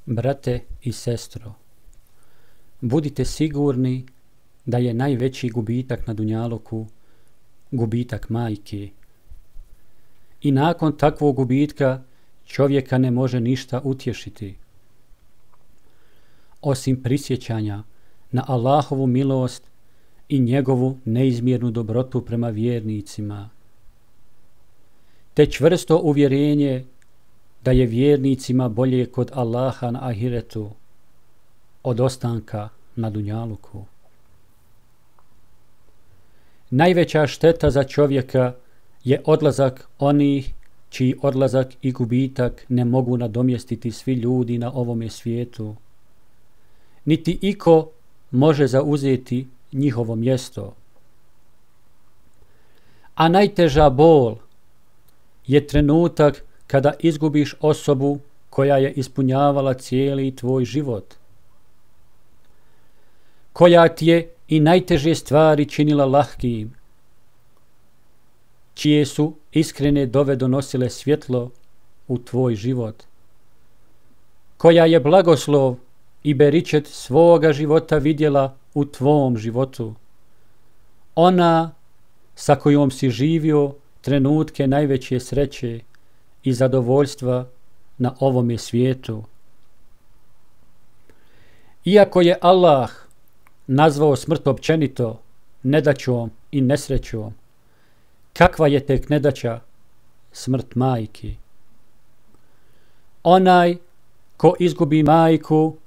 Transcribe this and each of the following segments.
Brate i sestro, budite sigurni da je najveći gubitak na dunjaluku gubitak majke. I nakon takvog gubitka čovjeka ne može ništa utješiti, osim prisjećanja na Allahovu milost i njegovu neizmjernu dobrotu prema vjernicima, te čvrsto uvjerenje da je vjernicima bolje kod Allaha na ahiretu od ostanka na dunjaluku. Najveća šteta za čovjeka je odlazak onih čiji odlazak i gubitak ne mogu nadomjestiti svi ljudi na ovome svijetu, niti iko može zauzeti njihovo mjesto. A najteža bol je trenutak kada izgubiš osobu koja je ispunjavala cijeli tvoj život, koja ti je i najteže stvari činila lahkim, čije su iskrene dove donosile svjetlo u tvoj život, koja je blagoslov i beričet svoga života vidjela u tvom životu, ona sa kojom si živio trenutke najveće sreće i zadovoljstva na ovome svijetu. Iako je Allah nazvao smrt općenito nedaćom i nesrećom, kakva je tek nedaća smrt majke? Onaj ko izgubi majku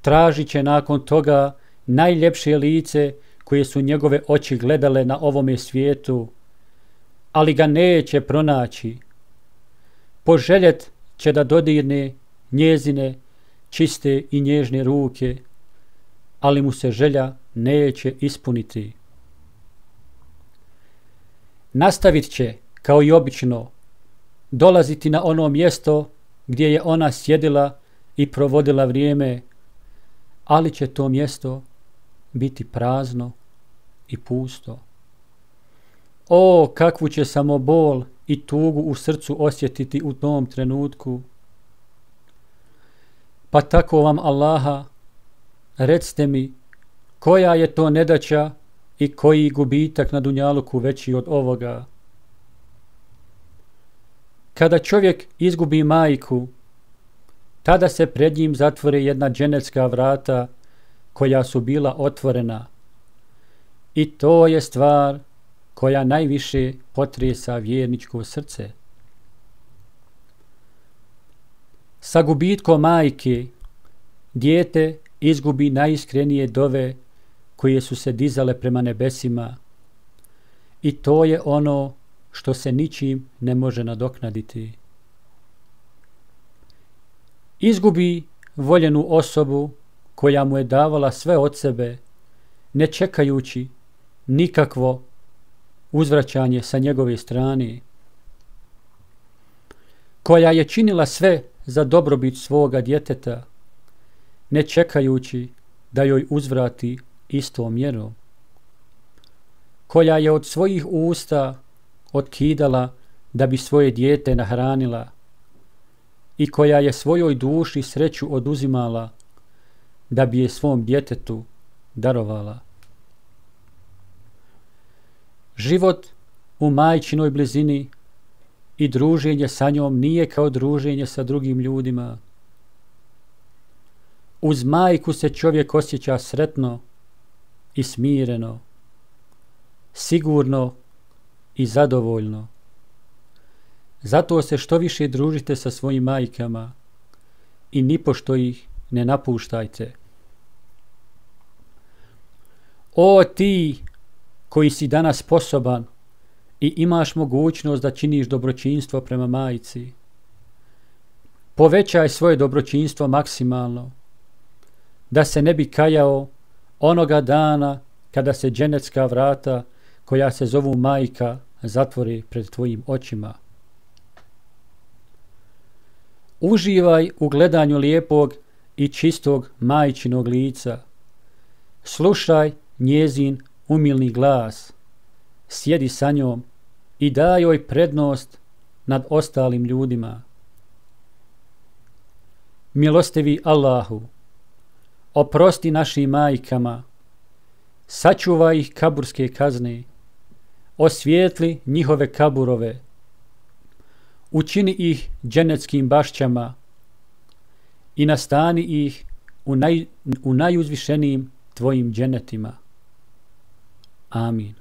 tražit će nakon toga najljepše lice koje su njegove oči gledale na ovome svijetu, ali ga neće pronaći. Poželjet će da dodirne njezine čiste i nježne ruke, ali mu se želja neće ispuniti. Nastavit će, kao i obično, dolaziti na ono mjesto gdje je ona sjedila i provodila vrijeme, ali će to mjesto biti prazno i pusto. O, kakvu će samo bol i tugu u srcu osjetiti u tom trenutku. Pa tako vam Allaha, recite mi, koja je to nedaća i koji gubitak na dunjaluku veći od ovoga? Kada čovjek izgubi majku, tada se pred njim zatvore jedna dženecka vrata koja su bila otvorena, i to je stvar koja najviše potresa vjerničko srce. Sa gubitkom majke dijete izgubi najiskrenije dove koje su se dizale prema nebesima, i to je ono što se ničim ne može nadoknaditi. Izgubi voljenu osobu koja mu je davala sve od sebe, ne čekajući nikakvo uzvraćanje sa njegove strane, koja je činila sve za dobrobit svoga djeteta, ne čekajući da joj uzvrati istom mjerom, koja je od svojih usta otkidala da bi svoje dijete nahranila i koja je svojoj duši sreću oduzimala da bi je svom djetetu darovala. Život u majčinoj blizini i druženje sa njom nije kao druženje sa drugim ljudima. Uz majku se čovjek osjeća sretno i smireno, sigurno i zadovoljno. Zato se što više družite sa svojim majkama i nipošto ih ne napuštajte. O ti koji si danas sposoban i imaš mogućnost da činiš dobročinstvo prema majci, povećaj svoje dobročinstvo maksimalno, da se ne bi kajao onoga dana kada se dženecka vrata koja se zovu majka zatvori pred tvojim očima. Uživaj u gledanju lijepog i čistog majčinog lica. Slušaj njezin umilni glas, sjedi sa njom i daj joj prednost nad ostalim ljudima. Milostivi Allahu, oprosti našim majkama, sačuvaj ih kaburske kazne, osvijetli njihove kaburove, učini ih dženeckim bašćama i nastani ih u najuzvišenijim tvojim dženetima. Amin.